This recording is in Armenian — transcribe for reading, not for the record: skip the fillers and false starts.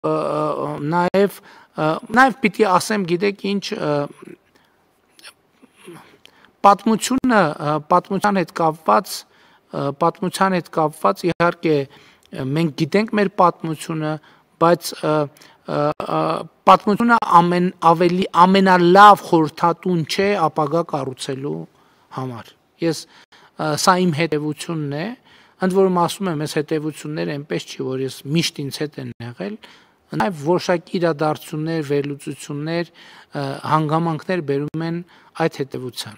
նաև պիտի ասեմ, գիտեք ինչ, պատմության հետ կապված իհարկե մենք գիտենք մեր պատմությունը, բայց պատմությունը ամենալավ խորհրդատուն չէ ապագա կառուցելու համար։ Սա իմ հետևությունն է, ընդ որում ասում եմ, այս հետևությունները այնպես չի, որ ես միշտ ինձ հետ են եղել, նաև որոշակի իրադարձություններ, վերլուծություններ, հանգամանքներ բերում են այդ հետևության։